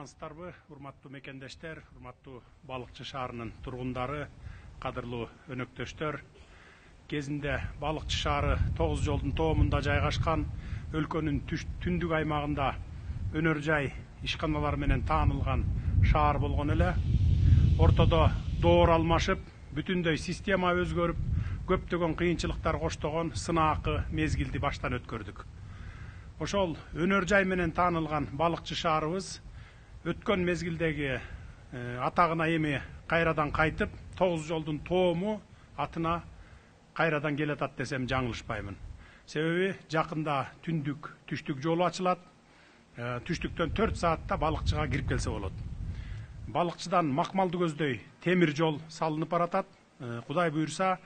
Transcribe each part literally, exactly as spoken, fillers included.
амансыздарбы, урматтуу мекендештер, урматтуу Балыкчы шаарынын тургундары, кадырлуу өнөктөштөр. Кезинде Балыкчы шаары тогуз жолдун тоомунда жайгашкан өлкөнүн түндүк аймагында өнөр жай ишканалар менен таанылган шаар болгон эле. Ортодо доор алмашып, бүтүндөй система өзгөрүп, көптөгөн кыйынчылыктар коштогон сынаакы мезгилди баштан өткөрдүк. Ошол өнөр жай менен таанылган Балыкчы шаарыбыз өткөн мезгилдеги атагына эми кайрадан кайтып, тогуз жолдун тоому атына кайрадан келатат десем жаңылышпаймын. Себеби жакында түндүк түштүк жолу ачылат. Түштүктөн төрт саатта Балыкчыга кирип келсе болот. Балыкчыдан Макмалды көздөй темир жол салынып баратат. Кудай буйрса,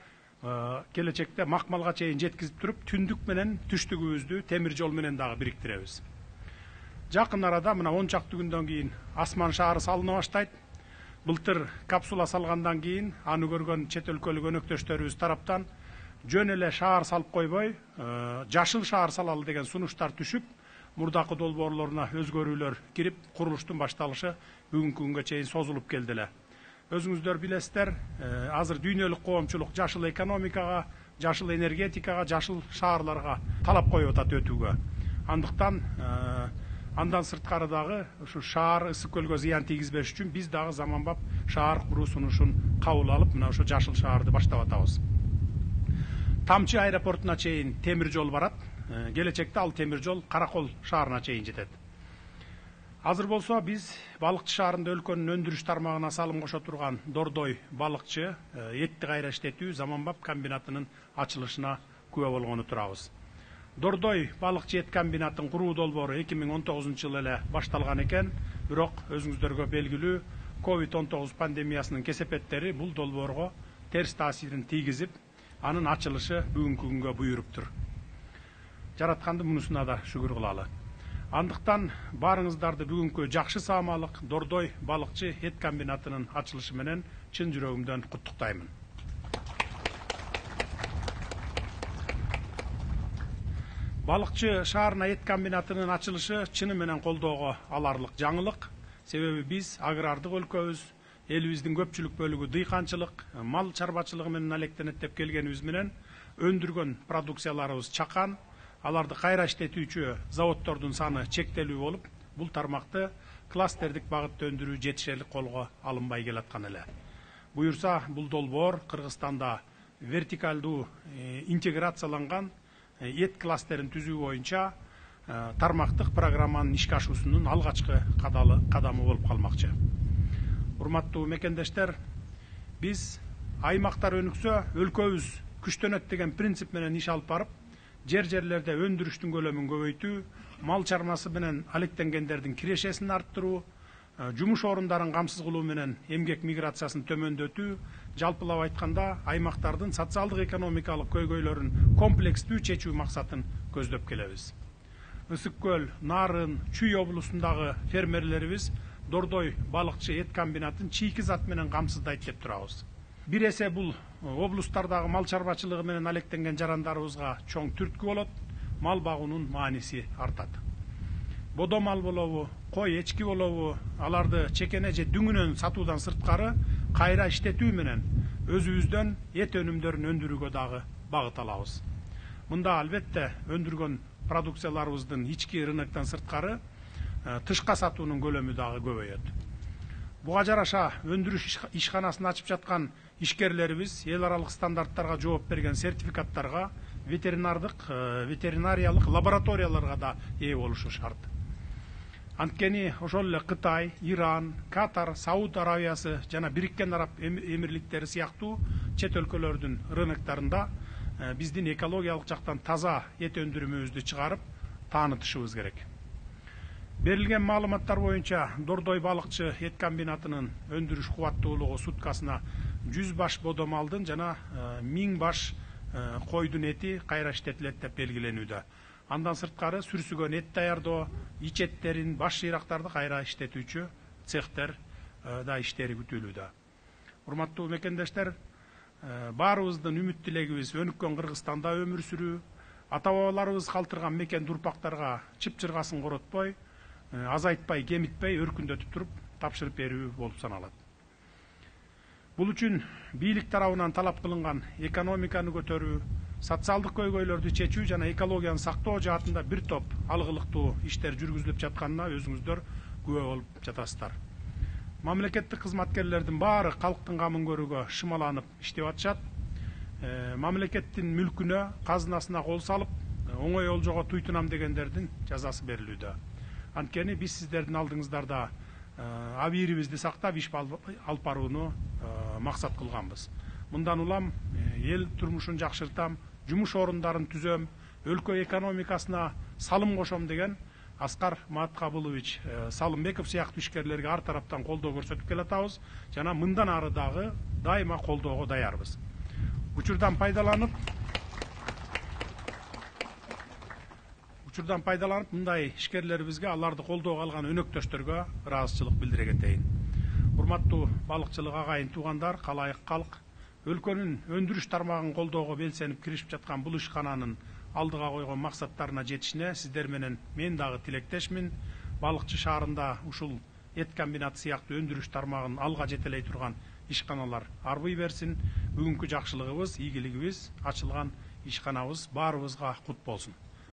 келечекте Макмалга чейин жеткизип туруп, түндүк менен түштүгүбүздү темир жол менен дагы бириктиребиз. Жакын арада мына он чакты күндөн кийин Асман шаары салына баштайт. Былтыр капсула салгандан кийин аны көргөн чет өлкөлүк өнөктөштөрүбүз тараптан жөн эле шаар салып койбой, жашыл шаар салалы деген сунуштар түшүп, мурдакы долбоорлоруна өзгөрүүлөр кирип, курулуштун башталышы бүгүнкү күнгө чейин созулуп келди эле. Өзүңүздөр билесиздер, азыр дүйнөлүк коомчулук жашыл экономикага, жашыл энергетикага, жашыл шаарларга талап коюп атат өтүүгө. Андыктан андан сырткары дагы ушу шаар ысык көлгө зыян тийгизбеш үчүн биз дагы заманбап шаар куруу сунушун кабыл алып, мына ошо жашыл шаарды баштап атабыз. Тамчы аэропортуна чейин темир жол барат. Келечекте ал темир жол Каракол шаарына чейин жетет. Азыр болсо биз Балыкчы шаарында өлкөнүн өндүрүш тармагына салым кошо турган Дордой балыкчы этти кайра иштетүү заманбап комбинатынын ачылышына күбө болгону турабыз. Дордой балыкчы эт комбинатын куруу долбоору эки миң он тогузунчу жылы эле башталган экен, бирок өзүңүздөргө белгилүү ковид он тогуз пандемиясынын кесепеттери бул долбоорго терс таасирин тийгизип, анын ачылышы бүгүнкү күнгө буйруптур. Жаратканды мунусуна да шүгүр кылалы. Андыктан баарыңыздарды бүгүнкү жакшы саамалык Дордой балыкчы эт комбинатынын ачылышы менен чын жүрөгүмдөн куттуктаймын. Балыкчы шаарына эт комбинатынын ачылышы чыны менен колдоого аларлык жаңылык. Себеби биз агрардык өлкөбүз, элибиздин көпчүлүк бөлүгү дыйканчылык, мал чарбачылыгы менен алектенип деп келгенибиз менен өндүргөн продукцияларыбыз чакан, аларды кайра иштетүүчү заводдордун саны чектелүү болуп, бул тармакты кластердик багытта өндүрүү жетишерлик колго алынбай келаткан эле. Буюрса, бул долбоор Кыргызстанда вертикалдуу интеграцияланган эт кластерин түзүү боюнча тармактык программанын ишке ашуусунун алгачкы кадамы болуп калмакчы. Урматтуу мекендештер, биз аймактар өнүксө, өлкөбүз күчтөнөт деген принцип менен иш алып барып, жер-жерлерде өндүрүштүн көлөмүн көбөйтүү, мал чармасы менен алектенгендердин кирешесин арттыруу, жумуш орундарын камсыз кылуу менен эмгек миграциясын төмөндөтүү, жалпылап айтканда аймактардын социалдык экономикалык көйгөйлөрүн комплекстүү чечүү максатын көздөп келебиз. Ысык көл, Нарын, Чүй облусундагы фермерлерибиз Дордой балыкчы эт комбинатын чийки зат менен камсыздайт деп турабыз. Бир эсе бул облустардагы мал чарбачылыгы менен алектенген жарандарыбызга чоң түрткү болот, мал багуунун мааниси артат. Бодо мал болобу, кой, эчки болобу, аларды чекене же дүңүнөн сатуудан сырткары кайра иштетүү менен өзүбүздөн эт өнүмдөрүн өндүрүүгө дагы багыт алабыз. Мында албетте өндүргөн продукцияларыбыздын ички рыноктон сырткары тышка сатуунун көлөмү дагы көбөйөт. Буга жараша өндүрүш ишканасын ачып жаткан ишкерлерибиз эл аралык стандарттарга жооп берген сертификаттарга, ветеринардык, ветеринариялык лабораторияларга да ээ болушу шарт. Анткени ошол эле Кытай, Иран, Катар, Сауд Арабиясы жана Бириккен Араб Эмирликтери сыяктуу чет өлкөлөрдүн рыноктарында биздин экологиялык жактан таза эт өндүрүмүбүздү чыгарып таанытышыбыз керек. Берилген маалыматтар боюнча Дордой балыкчы эт комбинатынын өндүрүш кубаттуулугу суткасына жүз баш бодо малдын жана миң баш койдун эти кайра иштетилет деп белгиленүүдө. Андан сырткары сүрсүгөн эт даярдоо, ич эттерин, баш жыйрактарды кайра иштетүүчү цехтер да иштери күтүлүүдө. Урматтуу мекендештер, баарыбыздын үмүт тилегибиз өнүккөн Кыргызстанда өмүр сүрүү, ата бабаларыбыз калтырган мекен урпактарга чып-чыргасын коротпой, азайтпай, кемитпей, өркүндөтүп туруп тапшырып берүү болуп саналат. Бул үчүн бийлик тарабынан талап кылынган экономиканы көтөрүү, социалдык көйгөйлөрдү чечүү жана экологияны сактоо жаатында бир топ алгылыктуу иштер жүргүзүлүп жатканына өзүңүздөр күбө болуп жатасыздар. Мамлекеттик кызматкерлердин баары калктын камын көрүүгө шымаланып иштеп атышат. Мамлекеттин мүлкүнө, казынасына кол салып, оңой олжого туйтунам дегендердин жазасы берилүүдө. Анткени биз сиздердин алдыңыздарда абийирибизди сактап иш алып барууну максат кылганбыз. Мындан улам эл турмушун жакшыртам, жумуш орундарын түзөм, өлкө экономикасына салым кошом деген Аскар Маткабылович Салымбеков сыяктуу ишкерлерге ар тараптан колдоо көрсөтүп келатабыз жана мындан ары дагы дайыма колдоого даярбыз. Учурдан пайдаланып Учурдан пайдаланып мындай ишкерлерибизге, аларды колдоого алган өнөктөштөргө ыраазычылык билдире кетейин. Урматтуу балыкчылык агайын туугандар, калайык калк, өлкөнүн өндүрүш тармагын колдоого белсенип киришип жаткан бул ишкананын алдыга койгон максаттарына жетишине сиздер менен мен дагы тилектешмин. Балыкчы шаарында ушул эт комбинаты сыяктуу өндүрүш тармагын алга жетелей турган ишканалар арбый берсин. Бүгүнкү жакшылыгыбыз, ийгилигибиз, ачылган ишканабыз баарыбызга кут болсун.